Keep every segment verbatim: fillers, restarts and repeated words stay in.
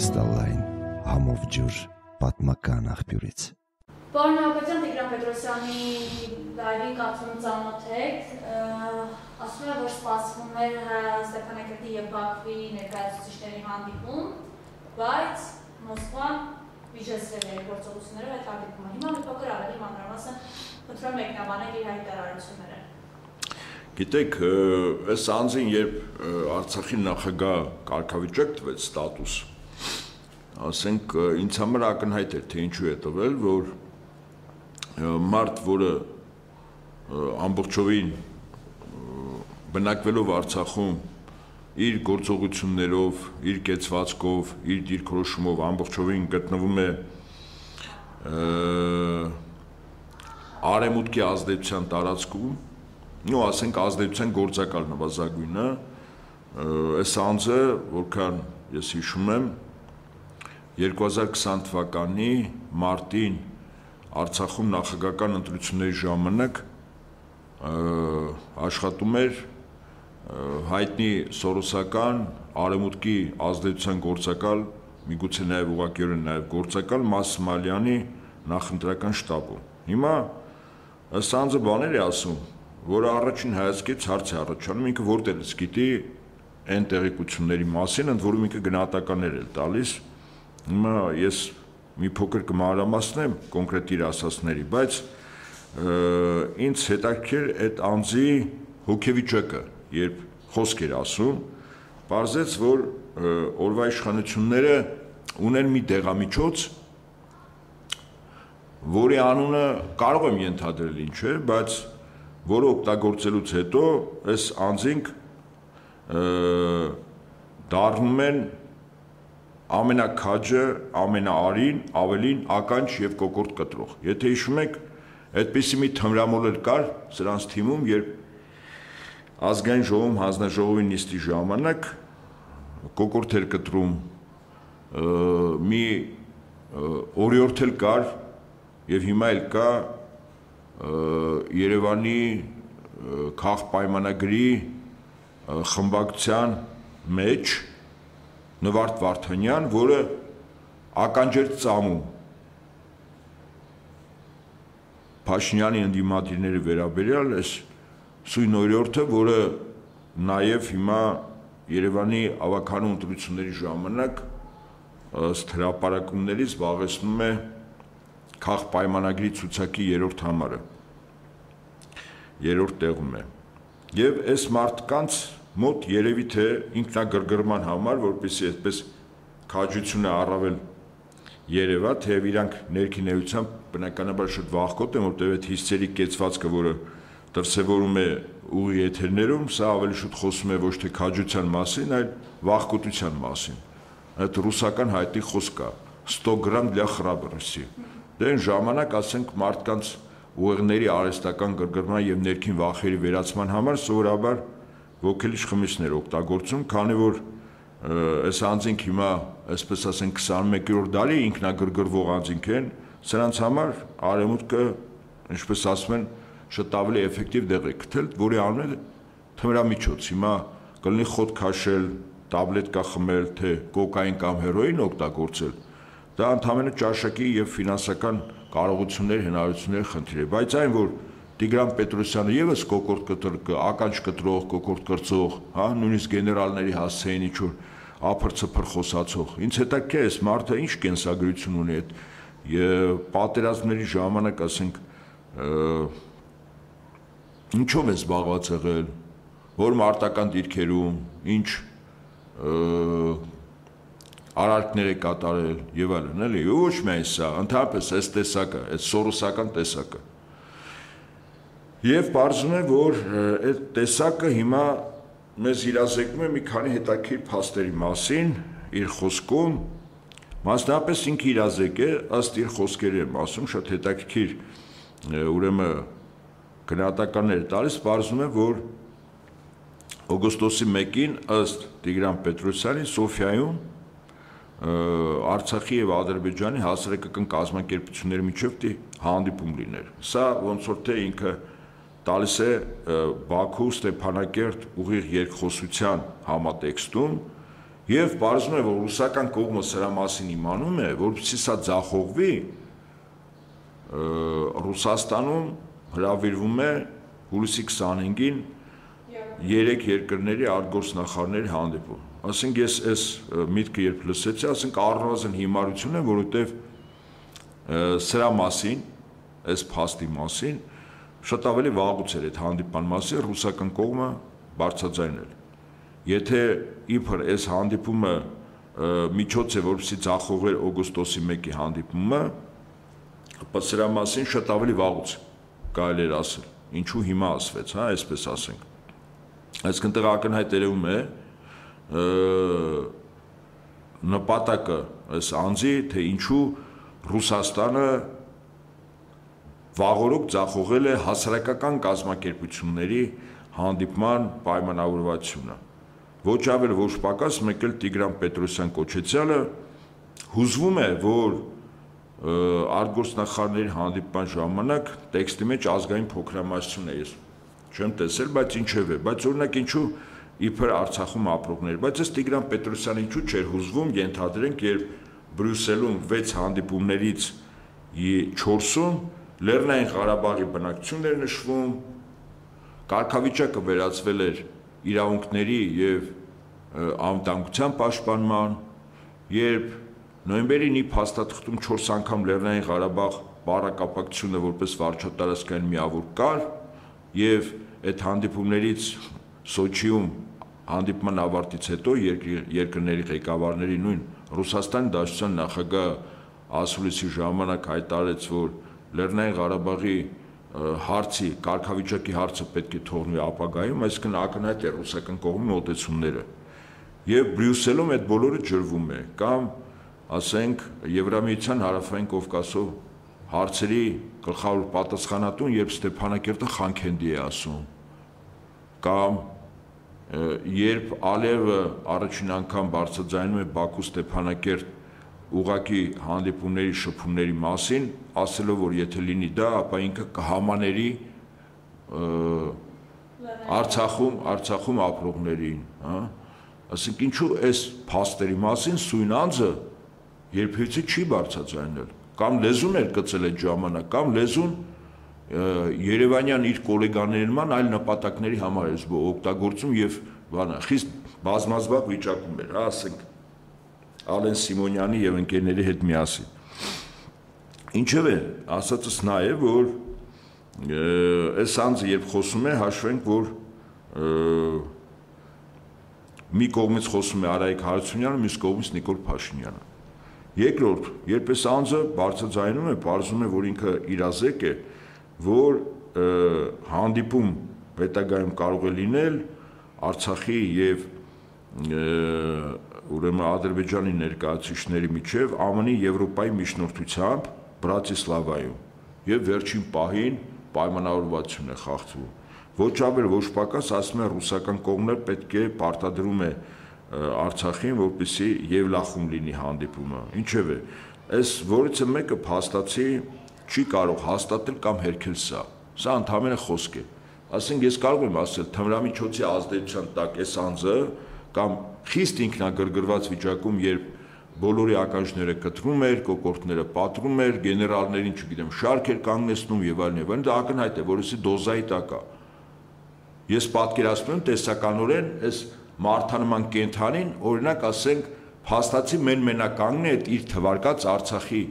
Կրիստալային համով ջուր պատմական աղբյուրից։ Պարոն Հակոբյան, Տիգրան Պետրոսյանի լայվին կապվում ծանոթ եք, ասում է, որ սպասվում էր Ստեփանակերտի և Բաքվի ներկայացուցիչների հանդիպում, բայց Մոսկվան վիժեցրել է գործողություններով այդ հանդիպումը։ Հիմա մի փոքր ավելի մանրամասն խնդրում եմ մեկնաբանել իր հայտարարությունները։ Գիտեք, այս անձին, երբ Արցախի նախագահ կարգավիճակ տվեց ստատուս, ասենք ինձ համար ակնհայտ էր, թե ինչու է տվել, որ մարդ, որը ամբողջովին բնակվելով Արցախում իր գործողություններով, իր կեցվածքով, իր դիրքորոշումով ամբողջովին գտնվում է արևմուտքի ազդեցության տարածքում, նո ասենք ազդեցության գործակալ նվազագույնը, այս անձը, որքան ես հիշում եմ, երկու հազար քսան թվականի մարտին Արցախում նախագահական ընտրությունների ժամանակ աշխատում էր հայտնի սորոսական արևմուտքի ազդեցության գործակալ, միգուցե նաև ուղղակիորեն նաև գործակալ Մաս Սմալյանի նախընտրական շտաբում։ Հիմա ըստ անձը բաներ է ասում, որը առաջին հայացքից հարց է առաջանում, ինքը որտեղից գիտի այն տեղեկությունների մասին, ընդ որում ինքը գնահատականներ է տալիս։ Հիմա ես մի փոքր կմանրամասնեմ կոնկրետ իր ասածների, բայց ինձ հետաքրքիր այդ անձի հոգեվիճակը, երբ խոսք էր ասում, պարզեց, որ օրվա իշխանությունները ունեն մի դեղամիջոց, որի անունը կարող եմ ենթադրել ինչ է, բայց որը օգտագործելուց հետո այս անձինք դառնում են ամենաքաջը, ամենաարին, ավելին ականջ և կոկորդ կտրող։ Եթե հիշում եք, այդպիսի մի թմրամոլ էլ կար սրանց թիմում, երբ ազգային ժողովում հանձնաժողովի նիստի ժամանակ կոկորդ էր կտրում, մի օրիորդ էլ կար և հիմա էլ կա Երևանի քաղաքապայմանագրի խմբակցության մեջ Նվարդ Վարդանյան, որը ականջ էր ծամում Փաշինյանի ընդդիմադիրների վերաբերյալ այս սույն օրիորդը, որը նաև հիմա Երևանի ավագանու ընտրությունների ժամանակ ըստ հրապարակումների զբաղեցնում է քաղաքապայմանագրի ցուցակի երրորդ համարը, երրորդ տեղում է։ Եվ այս մարդկանց մոտ երևի թե ինքնագրգռման համար, որպեսզի այդպես քաջությունը առավել երևա, թեև իրանք ներքին էությամբ բնականաբար շատ վախկոտ են, որտեղ այդ հիսցերի կեցվածքը, որը դրսևորում է ուղի եթերներում, սա ավելի շուտ խոսում է ոչ թե քաջության մասին, այլ վախկոտության մասին։ Այդ ռուսական հայտի խոսք է, sto грамм для храбрости։ Դե այն ժամանակ, ասենք, մարդկանց ուղեղների արհեստական գրգռման և ներքին վախերի վերացման համար սովորաբար ոգելիչ խմիչքներ օգտագործում, քանի որ այս անձինք հիմա, այսպես ասենք, քսանմեկերորդ դարի ինքնագրգռվող անձինք են, սրանց համար արևմուտքը, ինչպես ասում են, շատ ավելի էֆեկտիվ դեղ է գտել, որի անունը թմրամիջոց։ Հիմա կլինի խոտ քաշել, տաբլետկա խմել, թե կոկային կամ հերոին օգտագործել, դա ընդամենը ճաշակի և ֆինանսական կարողությունների, հնարավորությունների խնդիր է, բայց այն, որ Տիգրան Պետրոսյանը ևս կոկորդ կտրող, ականջ կտրող, կոկորդ կրծող, նույնիսկ գեներալների հասցեին ինչ-որ ափր-ցփր խոսացող, ինձ հետաքրքիր է այս մարդը ինչ կենսագրություն ունի, այդ պատերազմների ժամանակ, ասենք, ինչով է զբաղված եղել, որ մարտական դիրքերում, ինչ արարքներ է կատարել և այլն, էլի, ոչ միայն սա, ընդհանրապես այս տեսակը, այս սորոսական տեսակը։ Եվ պարզվում է, որ այդ տեսակը հիմա մեզ իրազեկում է մի քանի հետաքրքիր փաստերի մասին իր խոսքում, մասնավորապես ինքը իրազեկ է, ըստ իր խոսքերի եմ ասում, շատ հետաքրքիր, ուրեմն գնահատականներ տալիս, պարզվում է, որ օգոստոսի մեկին ըստ Տիգրան Պետրոսյանի Սոֆիայում Արցախի և Ադրբեջանի հասարակական կազմակերպությունների միջև հանդիպում լիներ։ Սա ոնց որ թե ինքը տալիս է Բաքու Ստեփանակերտ ուղիղ երկխոսության համատեքստում Եվ պարզվում է, որ ռուսական կողմը սրա մասին իմանում է, որպեսզի սա ձախողվի, Ռուսաստանում հրավիրվում է հուլիսի քսանհինգին երեք երկրների արտգործնախարարների հանդիպում։ Ասենք ես այս միտքը երբ լսեցի, ասենք առնվազն հիմարություն է, որովհետև սրա մասին, այս փաստի մասին շատ ավելի վաղուց էր այդ հանդիպման մասին ռուսական կողմը բարձրաձայնել։ Եթե իբր այս հանդիպումը միջոց է, որպեսզի ձախողվեր օգոստոսի մեկի հանդիպումը, ապա սրա մասին շատ ավելի վաղուց կարելի էր ասել, ինչու հիմա ասվեց, հա, այսպես ասենք։ Այսինքն տեղ ակնհայտ երևում է նպատակը այս անձի, թե ինչու Ռուսաստանը վաղօրոք ձախողել է հասարակական կազմակերպությունների հանդիպման պայմանավորվածությունը։ Ոչ ավել ոչ պակաս մեկ էլ Տիգրան Պետրոսյան կոչեցյալը հուզվում է, որ արտգործնախարարների հանդիպման ժամանակ տեքստի մեջ ազգային փոքրամասնություն է, ես չեմ տեսել, բայց ինչև է, բայց օրինակ ինչու իբր Արցախում ապրողներ, բայց այս Տիգրան Պետրոսյանը ինչու չէր հուզվում, ենթադրենք, երբ Բրյուսելում վեց հանդիպումներից չորսում Լեռնային Ղարաբաղի բնակչություններ նշվում, կարգավիճակը վերածվել էր իրավունքների եւ անվտանգության պաշտպանման, երբ նոյեմբերի նիվ հաստատքտում չորս անգամ Լեռնային Ղարաբաղ բառակապակցությունը որպես վարչատարածքային միավոր կար եւ այդ հանդիպումներից Սոչիում հանդիպման ավարտից հետո երկրների ղեկավարների նույն Ռուսաստանի Դաշնության նախագահ ասուլիսի ժամանակ հայտարարեց, որ Լեռնային Ղարաբաղի հարցի, կարգավիճակի հարցը պետք է թողնվի ապագայում, այսինքն ակնհայտ է ռուսական կողմի մոտեցումները։ Եվ Բրյուսելում այդ բոլորը ջրվում է, կամ ասենք Եվրամիության հարավային Կովկասով հարցերի գլխավոր պատասխանատուն, երբ Ստեփանակերտը Խանքենդի է ասում, կամ երբ Ալիևը առաջին անգամ բարձրաձայնում է Բաքու Ստեփանակերտ ուղղակի հանդիպումների շփումների մասին, ասելով, որ եթե լինի դա, ապա ինքը կհամաների Արցախում, Արցախում ապրողներին, հա։ Ասենք ինչու այս փաստերի մասին սույն անձը երբևիցե չի բարձրաձայնել, կամ լեզուն էր կծել այդ ժամանակ, կամ լեզուն Երևանյան իր գոլեգաների նման այլ նպատակների համար էր օգտագործում եւ բանը խիստ բազմազբաղ վիճակում էր, հա, ասենք Ալեն Սիմոնյանի եւ ընկերների հետ միասին։ Ինչևէ, ասածս նա է, որ այս անձը երբ խոսում է, հաշվենք, որ մի կողմից խոսում է Արայիկ Հարությունյանը, մյուս կողմից Նիկոլ Փաշինյանը։ Երկրորդ, երբ այս անձը բարձրաձայնում է, պարզվում է, որ ինքը իրազեկ է, որ հանդիպում հետագայում կարող է լինել Արցախի եւ ուրեմն Ադրբեջանի ներկայացուցիչների միջև ԱՄՆ-ի Եվրոպայի միջնորդությամբ Բրատիսլավայում եւ վերջին պահին պայմանավորվածություն է խախտվում։ Ոչ ավել ոչ պակաս ասում է ռուսական կողմն էլ պետք է պարտադրում է Արցախին, որպեսզի Եվլախում լինի հանդիպումը։ Ինչևէ, այս որից մեկը փաստացի չի կարող հաստատել կամ հերքել սա։ Սա ընդհանրապես խոսք է։ Ասենք ես կարող եմ ասել թմրամիջոցի ազդեցության տակ այս անձը կամ խիստ ինքնագրգռված վիճակում, երբ բոլորի ականջները կտրում էր, կոկորդները պատռում էր, գեներալներին, չգիտեմ, շարք էր կանգնեցնում եւ այլն եւ այլն, դա ակնհայտ է, որ էսի դոզայի տակ է։ Ես պատկերացնում եմ տեսականորեն այս մարդանման կենթանին, օրինակ ասենք, փաստացի մեն-մենականգն է իր թվարկած Արցախի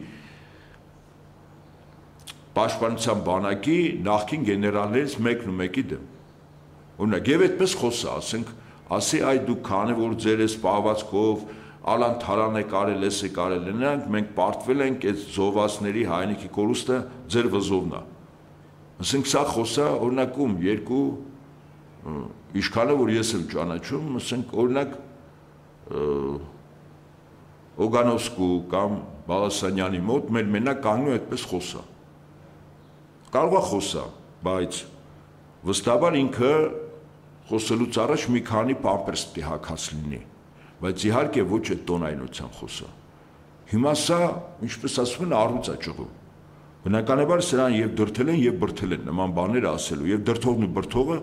պաշտպանության բանակի նախկին գեներալներից մեկն ու մեկի դեմ։ Օրինակ, եւ այդպես խոսա, ասենք, ասի այ դուք քանի որ ձեր այս պահվածքով ալան թարան է կարել, էս է կարել, նրանք մենք պարտվել ենք այդ զովասների հայնիկի կորուստը ձեր վզովն է։ Ասենք սա խոսա օրինակում երկու իշխանը, որ ես եմ ճանաչում, ասենք օրինակ Օգանովսկու կամ Բալասանյանի մոտ մեր մենակ կանգնում է այդպես խոսա։ Կարող է խոսա, բայց վստահաբար ինքը խոսելուց առաջ մի քանի պամպերս պիտի հագած լինի, բայց իհարկե ոչ է տոնայնության խոսա։ Հիմա սա, ինչպես ասում են, առուց է ճղում։ Բնականաբար սրան եւ դրթել են եւ բրթել են նման բաներ ասելու, եւ դրթողն ու բրթողը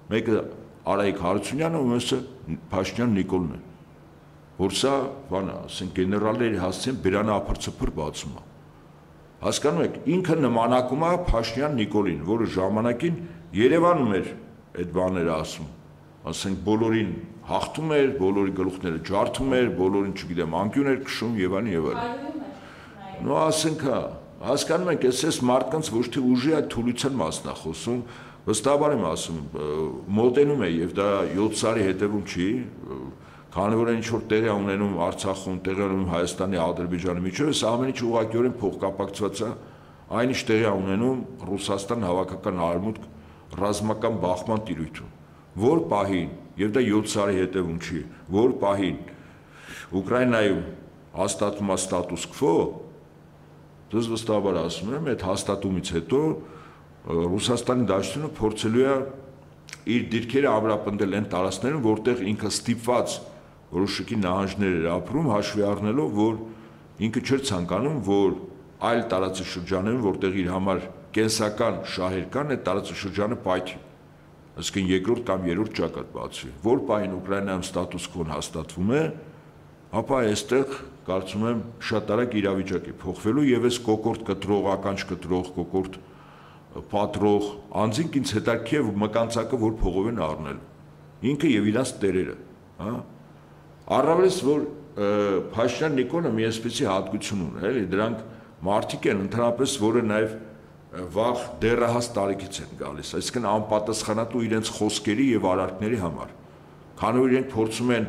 մեկը Արայիկ Հարությունյանը ու մյուսը Փաշինյան Նիկոլն է։ որ սա, բանը, ասենք գեներալների հասցեն բերանը ափրցփր բացում է։ Հասկանում եք, ինքը նմանակում է Փաշինյան Նիկոլին, որը ժամանակին Երևանում էր այդ բաները ասում, ասենք բոլորին հաղթում էր, բոլորի գլուխները ջարդում էր, բոլորին, չգիտեմ, անկյուն էր քշում եւ այլն եւ այլն։ Նո ասենք, հասկանում եք, այս մարդկանց ոչ թե ուժի այդ թուլության մասն է խոսում, վստահաբար եմ ասում, մոտենում է եւ դա յոթ սարի հետևում չի, քանի որ ինչ որ տեղի ունենում Արցախում, տեղի ունենում Հայաստանի, Ադրբեջանի միջև, սա ամեն ինչ ուղղակիորեն փոխկապակցված է, այնինչ տեղի ունենում Ռուսաստան հավաքական արմունկ ռազմական բախման տիրույթում, որ պահին, եւ դա յոթ սարի հետևում չի, որ պահին Ուկրաինայում հաստատվում է ստատուս քվո, դες վստահաբար ասում եմ, այդ հաստատումից հետո Ռուսաստանի Դաշնությունը փորձելու է իր դիրքերը ամրապնդել այն տարածքներում, որտեղ ինքը ստիպված որոշակի նահանջներ էր ապրում, հաշվի առնելով, որ ինքը չէր ցանկանում, որ այլ տարածաշրջաններում, որտեղ իր համար կենսական շահեր կան, այդ տարածաշրջանը պայթի, այսինքն երկրորդ կամ երրորդ ճակատ բացվի, որ պահին Ուկրաինայում ստատուս քվոն հաստատվում է, ապա այստեղ կարծում եմ շատ արագ իրավիճակ է փոխվելու եւ այս կոկորտ կտրող, ականջ կտրող, կոկորտ պատրող անձինք ինձ հետաքրքիր է մկանցակը որ փողով են առնել ինքը եւ իրանց տերերը, հա առավելս որ Փաշինյան Նիկոլը մի այսպիսի հատկություն ունի, էլի դրանք մարդիկ են ընդհանրապես, որը նաեւ վաղ դեռահաս տարիքից են գալիս, այսինքն անպատասխանատու իրենց խոսքերի եւ արարքների համար, քանի որ իրենք փորձում են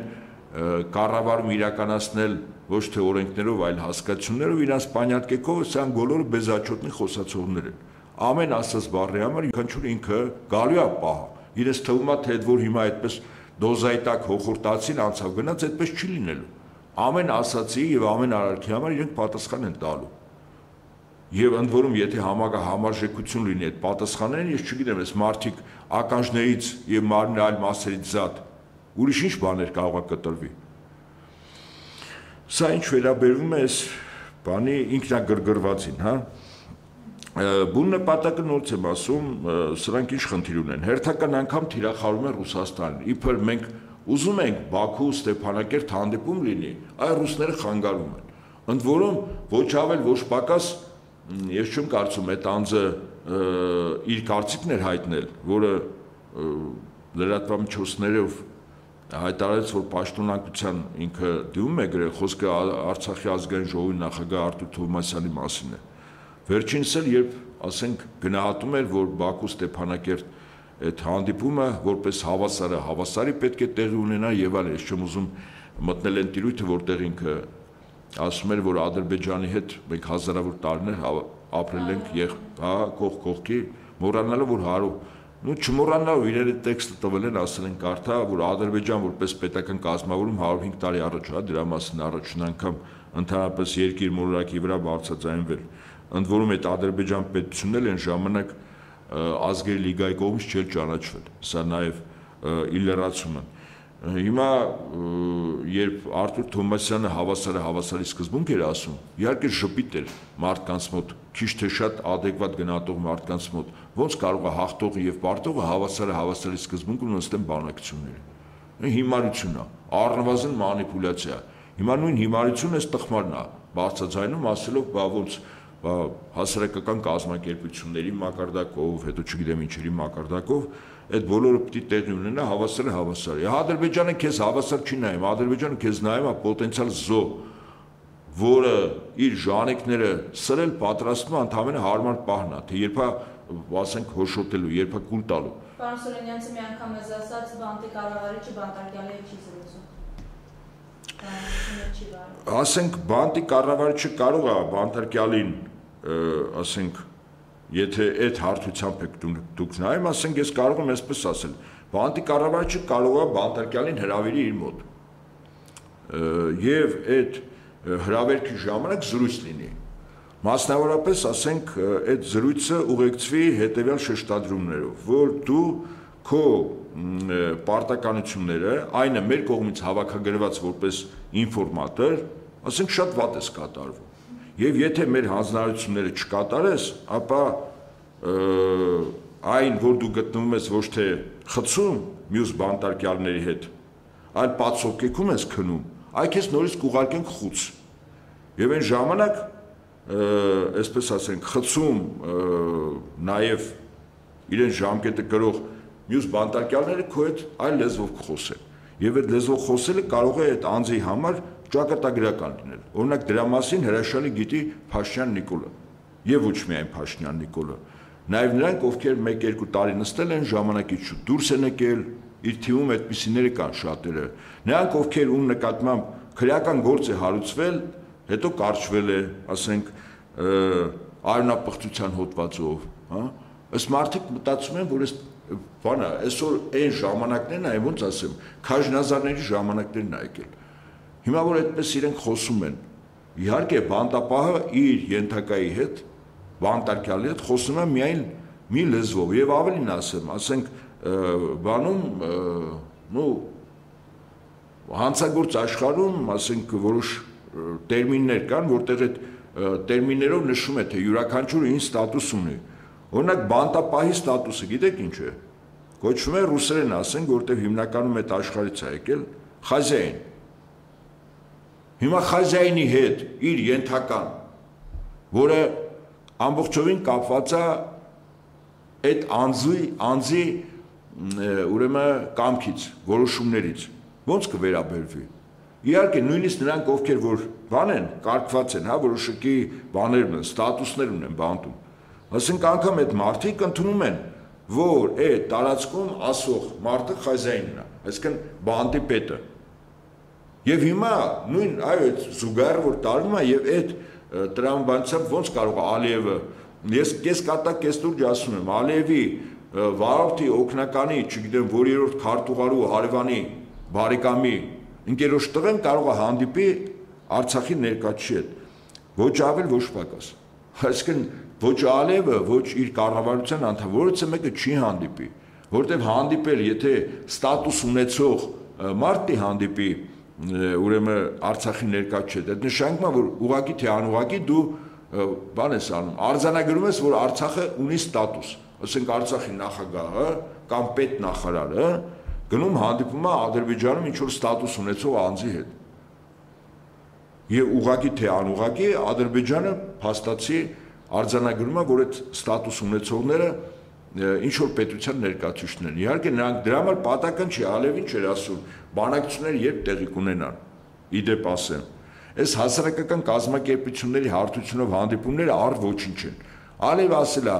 կառավարում իրականացնել ոչ թե օրենքներով, այլ հասկացություններով իրանց պանյատկեքով, սրանք բոլորը բեզաչոտնի խոսացողներ են։ Ամեն ասած բառի համար յուրաքանչյուր ինքը գալու է պահ։ Իրենց թվում է թե այդ որ հիմա այդպես դոզայի տակ հոխորտացին անցավ գնաց, այդպես չի լինելու։ Ամեն ասացի եւ ամեն արարքի համար իրենք պատասխան են տալու։ Եվ ընդ որում եթե համագա համարժեքություն լինի այդ պատասխաններին, ես չգիտեմ, այս մարդիկ ականջներից եւ մարմնի այլ մասերից զատ ուրիշ ինչ բաներ կարող է կտրվի։ Սա ինչ վերաբերվում է այս բանի ինքնագրգռվածին, հա։ Բուն նպատակը նորից եմ ասում, սրանք ինչ խնդիր ունեն։ Հերթական անգամ թիրախարում են Ռուսաստանին։ Իբր մենք ուզում ենք Բաքու, Ստեփանակերտ հանդիպում լինի, այ ռուսները խանգարում են։ Ընդ որում ոչ ավել ոչ պակաս ես չեմ կարծում այդ անձը իր կարծիքն էր հայտնել, որը լրատվամիջոցներով հայտարարեց, որ պաշտոնակության ինքը դիմում է գրել, խոսքը Արցախի ազգային ժողովի նախագահ Արտուր Թովմասյանի մասին է։ Վերջինս էլ երբ ասենք գնահատում էր, որ Բաքու Ստեփանակերտ այդ հանդիպումը որպես հավասարը հավասարի պետք է տեղի ունենա եւ այլ, ես չեմ ուզում մտնել այն տիրույթը, որտեղ ինքը ասում էր, որ Ադրբեջանի հետ մենք հազարավոր տարիներ ապրել ենք եւ հա կողք կողքի, մոռանալով որ հարու Ну չմոռանալով իրերի տեքստը տվել են, ասել են կարդա, որ Ադրբեջան որպես պետական կազմավորում հարյուր հինգ տարի առաջ, հա, դրա մասին առաջին անգամ ընդհանրապես երկիր մոլորակի վրա բարձրացանվել։ Ընդ որում այդ Ադրբեջան պետությունն էլ այն ժամանակ ազգերի լիգայի կողմից չէր ճանաչվել։ Սա նաև ի լրացում է։ Հիմա երբ Արտուր Թովմասյանը հավասարը հավասարի սկզբունք էր ասում, իհարկե ժպիտ էր մարդկանց մոտ, քիչ թե շատ adekvat գնահատող մարդկանց մոտ, ոնց կարող է հաղթողը եւ պարտողը հավասարը հավասարի սկզբունք ունենալ բանակցությունները։ Հիմարություն է, առնվազն մանիպուլյացիա։ Հիմա նույն հիմարությունը այս տխմարն է, բարձրացնում ասելով, բա ոնց հասարակական կազմակերպությունների մակարդակով, հետո չգիտեմ ինչերի մակարդակով այդ բոլորը պիտի տեղի ունենա հավասարը հավասարի։ Ադրբեջանը քեզ հավասար չի նայում, Ադրբեջանը քեզ նայում է պոտենցիալ զո, որը իր ժանեկները սրել պատրաստում է ընդհանրապես հարմար պահն է, թե երբ ասենք հոշոտելու, երբ կուլ տալու։ Պարոն Սուրենյանցը մի անգամ էս ասաց, բանտի կառավարիչը բանտարկյալի հետ չի զրուցում։ Ասենք բանտի կառավարիչը կարող է բանտարկյալին, ասենք եթե այդ հարթությամբ եք դուք նայում, ասենք ես կարող եմ այսպես ասել, բանտի կառավարիչը կարող է բանտարկյալին հրավիրի իր մոտ։ Եվ այդ հրավերքի ժամանակ զրույց լինի։ Մասնավորապես ասենք այդ զրույցը ուղեկցվի հետևյալ շեշտադրումներով, որ դու քո պարտականությունները, այնը մեր կողմից հավաքագրված որպես ինֆորմատոր, ասենք շատ վատ է կատարվում։ Եվ եթե մեր հանձնարարությունները չկատարես, ապա այն, որ դու գտնվում ես ոչ թե խցում մյուս բանտարկյալների հետ, այլ պատսովկեքում ես քնում, այ քեզ նորից կուղարկենք խուց։ Եվ այն ժամանակ, այսպես ասենք, խցում նաև իրեն ժամկետը կրող մյուս բանտարկյալները քո հետ այլ լեզվով կխոսեն։ Եվ այդ լեզվով խոսելը կարող է այդ անձի համար ճակատագրական լինել։ Օրինակ դրա մասին հրաշալի գիտի Փաշինյան Նիկոլը, եւ ոչ միայն Փաշինյան Նիկոլը, նաեւ նրանք, ովքեր մեկ երկու տարի նստել են, ժամանակից շուտ դուրս են եկել, իր թիմում այդպիսիները կան շատերը։ Նրանք, ովքեր ում նկատմամբ քրեական գործ է հարուցվել, հետո կարճվել է, ասենք, արյունապղծության հոդվածով, հա։ Ըստ մարդիկ մտածում են, որ այս բանը այսօր այն ժամանակներն այն ոնց ասեմ, քաջնազարների ժամանակներն ա եկել։ Հիմա որ այդպես իրենք խոսում են, իհարկե բանտապահը իր ենթակայի հետ, բանտարկյալի հետ խոսում է միայն մի լեզվով եւ ավելին ասեմ, ասենք բանում նո հանցագործ աշխարհում, ասենք որոշ տերմիններ կան, որտեղ այդ տերմիններով նշում է, թե յուրաքանչյուրը ինչ ստատուս ունի։ Օրինակ բանտապահի ստատուսը գիտեք ինչ է։ Կոչվում է ռուսերեն ասենք, որտեղ հիմնականում այդ աշխարհից է եկել խազային։ Հիմա խազայինի հետ իր ենթական, որը ամբողջովին կապված է այդ անձի, անձի ուրեմն կամքից, որոշումներից, ոնց կվերաբերվի։ Իհարկե նույնիսկ նրանք, ովքեր որ բան են, կարգված են, հա, որոշակի բաներ ունեն, ստատուսներ ունեն բանտում։ Ասենք անգամ այդ մարդիկ ընդունում են, որ այդ տարածքում ասող մարդը խազայինն է, այսինքն բանտի պետը։ Եվ հիմա նույն այո այդ զուգահեռ որ տարվում է եւ այդ տրամաբանությամբ ոնց կարող է Ալիևը, ես կես կատակ կես լուրջ ասում եմ, Ալիևի վարորդի օգնականի, չգիտեմ, որ երրորդ քարտուղարու հարևանի բարեկամի ընկերոջ տղեն կարող է հանդիպի Արցախի ներկայացի հետ, ոչ ավել, ոչ պակաս։ Այսինքն ոչ Ալիևը, ոչ իր կառավարության անդամ, որից մեկը չի հանդիպի, որտեղ հանդիպել, եթե ստատուս ունեցող մարդ է հանդիպի, ուրեմն Արցախի ներկայացի հետ, այդ նշանակում է, որ ուղղակի թե անուղղակի դու բան ես անում, արձանագրում ես, որ Արցախը ունի ստատուս, ասենք Արցախի նախագահը կամ պետնախարարը գնում հանդիպում է Ադրբեջանում ինչ-որ ստատուս ունեցող անձի հետ։ Եվ ուղղակի թե անուղղակի Ադրբեջանը փաստացի արձանագրում է, որ այդ ստատուս ունեցողները ինչ-որ պետության ներկայացուցիչներ են։ Իհարկե նրանք դրա համար պատական չի, Ալիևին չէր ասում, բանակցությունները երբ տեղի կունենան, իդեպ ասեմ։ Այս հասարակական կազմակերպությունների հարթությունով հանդիպումները առ ոչինչ են։ Ալիևը ասել է,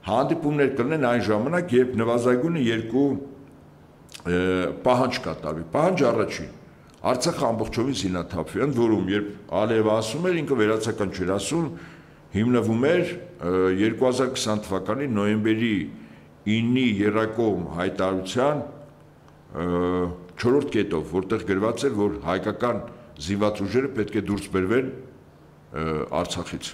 հանդիպումներ կլինեն այն ժամանակ, երբ նվազագույնը երկու պահանջ կատարվի։ Պահանջ առաջին, Արցախը ամբողջովին զինաթափվի, ընդ որում, երբ Ալիևը ասում էր, ինքը վերացական չէր ասում, հիմնվում էր երկու հազար քսան թվականի նոյեմբերի ինի եռակողմ հայտարարության չորրորդ կետով, որտեղ գրված էր, որ հայկական զինված ուժերը պետք է դուրս բերվեն Արցախից։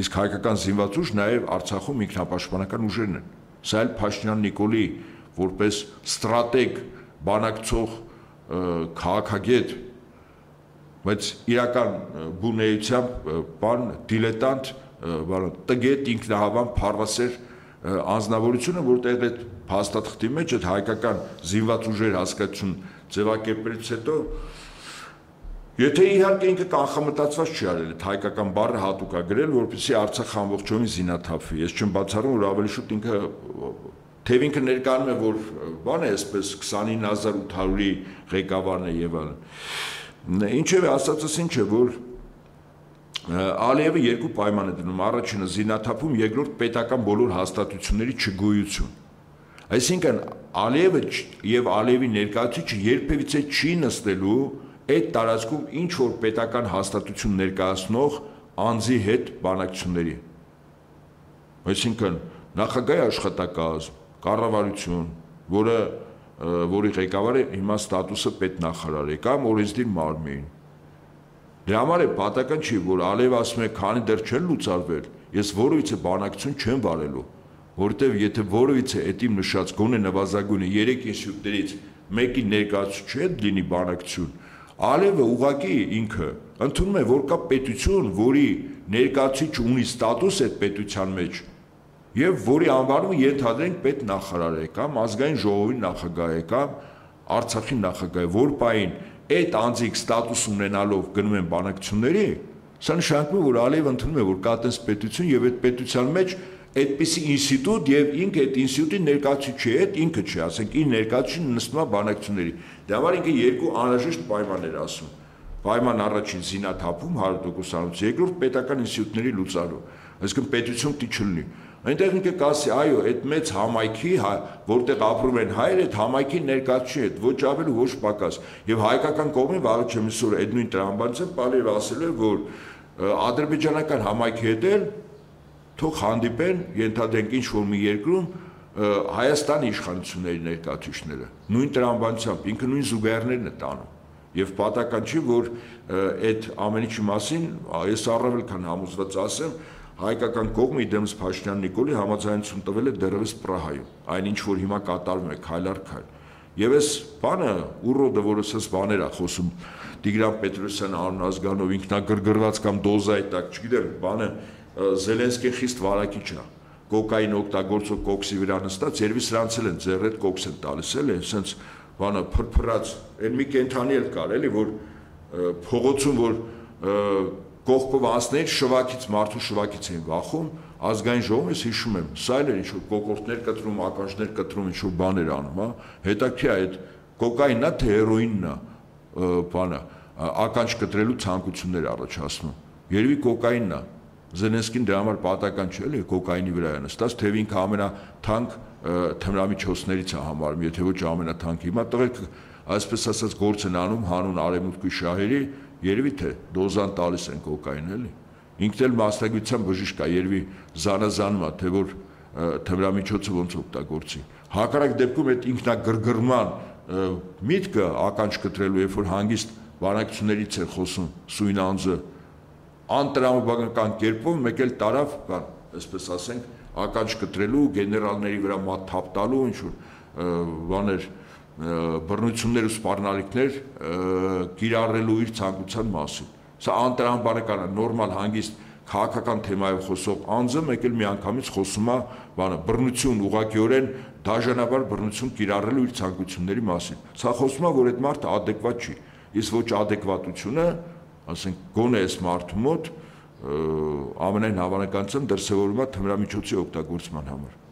Իսկ հայկական զինված ուժ նաև Արցախում ինքնապաշտպանական ուժերն են։ Սա էլ Փաշինյան Նիկոլի որպես ստրատեգ բանակցող քաղաքագետ, բայց իրական բունեությամբ բան դիլետանտ, բան տգետ ինքնահավան փառասեր անձնավորությունը, որտեղ այդ փաստաթղթի մեջ այդ հայկական զինված ուժեր հասկացություն ձևակերպելուց հետո, եթե իհարկե ինքը կանխամտածված չի արել, այդ հայկական բառը հատուկ է գրել, որպեսզի Արցախը ամբողջովին զինաթափվի։ Ես չեմ բացառում, որ ավելի շուտ ինքը թեև ինքը ներկայանում է, որ բան է այսպես քսանինը հազար ութ հարյուրի ղեկավարն է եւ այլն։ Ինչևէ, ասածս ինչ է, որ Ալիևը երկու պայման է դնում, առաջինը զինաթափում, երկրորդ պետական բոլոր հաստատությունների չգոյություն։ Այսինքն Ալիևը եւ Ալիևի ներկայացուցիչը երբևիցե չի նստելու այդ տարածքում ինչ որ պետական հաստատություն ներկայացնող անձի հետ բանակցությունների։ Այսինքն նախագահի աշխատակազմ, կառավարություն, որը որի ղեկավարը հիմա ստատուսը պետնախարար է կամ օրենսդիր մարմին։ Դրա համար է պատական չի, որ Ալիևը ասում է, քանի դեռ չեն լուծարվել, ես որևիցե բանակցություն չեմ վարելու, որտեվ եթե որևիցե այդ իմ նշած գոնե նվազագույնը երեք ինստիտուտներից մեկի ներկայացուցիչ հետ լինի բանակցություն, Ալիևը ուղղակի ինքը ընդունում է, որ կա պետություն, որի ներկայացուցիչ ունի ստատուս այդ պետության մեջ, եւ որի անվանումը ենթադրենք պետնախարար է կամ ազգային ժողովի նախագահ է կամ Արցախի նախագահը, որ պայն այդ անձիկ ստատուս ունենալով գնում են բանակցությունների, սա նշանակում է, որ Ալիևը ընդունում է, որ կա այդպես պետություն եւ այդ պետության մեջ այդպիսի ինստիտուտ եւ ինքը այդ ինստիտուտի ներկայացուցիչ չէ, այդ ինքը չի, ասենք իր ներկայացուցիչը նստում է բանակցությունների։ Դե համար ինքը երկու անհրաժեշտ պայմաններ ասում։ Պայման առաջին զինաթափում հարյուր տոկոս անց, երկրորդ պետական ինստիտուտների լուծարու։ Այսինքն պետություն պիտի չլինի։ Այնտեղ ինքը կասի, այո, այդ մեծ համայնքի, որտեղ ապրում են հայեր, այդ համայնքի ներկայացուցիչ է, ոչ ավել ու ոչ պակաս։ Եվ հայկական կողմին վաղը չեմ իսօր այդ նույն տրամաբանությամբ Ալիևը ասել է, որ ադրբեջանական համայնքի հետ էլ թող հանդիպեն, ենթադրենք ինչ-որ մի երկրում Հայաստանի իշխանությունների ներկայացուցիչները, նույն տրամաբանությամբ, ինքը նույն զուգահեռներն է տանում։ Եվ պատահական չի, որ այդ ամեն ինչի մասին ես առավել քան համոզված ասեմ, հայկական կողմը իդեմս Փաշինյան Նիկոլի համաձայնություն տվել է դեռևս Պրահայում, այն ինչ որ հիմա կատարվում է քայլ առ քայլ։ Եվ այս բանը ուրոդը, որ ասես բաներ է խոսում Տիգրան Պետրոսյան, Արոն Ազգանով ինքնագրգռված կամ դոզայի տակ, չգիտեմ, բանը Զելենսկին խիստ վարակիչ է։ Կոկային օգտագործող կոքսի վրա նստած, երևի սրանց էլ են ձեռ այդ կոքս են տալիս, էլի, ասենց բանը փրփրած, այն մի կենթանի էլ կար, էլի, որ փողոցում որ կողքով անցնեին շվակից, մարդու շվակից էին վախում, ազգային ժողովն ես հիշում եմ, սա էլ էր ինչ-որ կոկորտներ կտրում, ականջներ կտրում, ինչ-որ բաներ անում, հա, հետաքրքիր է այդ կոկայինն է, թե հերոինն է, բանը, ականջ կտրելու ցանկություններ առաջացնում, երևի կոկայինն է, Զելենսկին դրա համար պատահական չէ, էլի, կոկայինի վրա է նստած, թեև ինքը ամենաթանկ թմրամիջոցներից է համարում, եթե ոչ ամենաթանկը, հիմա տղերք այսպես ասած գործ են անում հանուն արևմուտքի շահերի, երևի թե դոզան տալիս են կոկային, էլի։ Ինքն էլ մասնագիտության բժիշկ է, երևի զանազանում է, թե որ թմրամիջոցը ոնց օգտագործի։ Հակառակ դեպքում այդ ինքնագրգռման միտքը ականջ կտրելու, երբ որ հանգիստ բանակցություններից է խոսում Սույն անձը անտրամաբանական կերպով մեկ էլ տարավ կան, այսպես ասենք, ականջ կտրելու, գեներալների վրա մատ թափ տալու, ինչ-որ բաներ, բռնություններ ու սպառնալիքներ կիրառելու իր ցանկության մասին։ Սա անտրամաբանական է, նորմալ հանգիստ քաղաքական թեմայով խոսող անձը մեկ էլ միանգամից խոսում է բանը, բռնություն ուղղակիորեն դաժանաբար բռնություն կիրառելու իր ցանկությունների մասին։ Սա խոսում է, որ այդ մարդը ադեկվատ չի, իսկ ոչ ադեկվատությունը ասենք գոնե այս մարդու մոտ ամենայն հավանականությամբ դրսևորվում է թմրամիջոցի օգտագործման համար։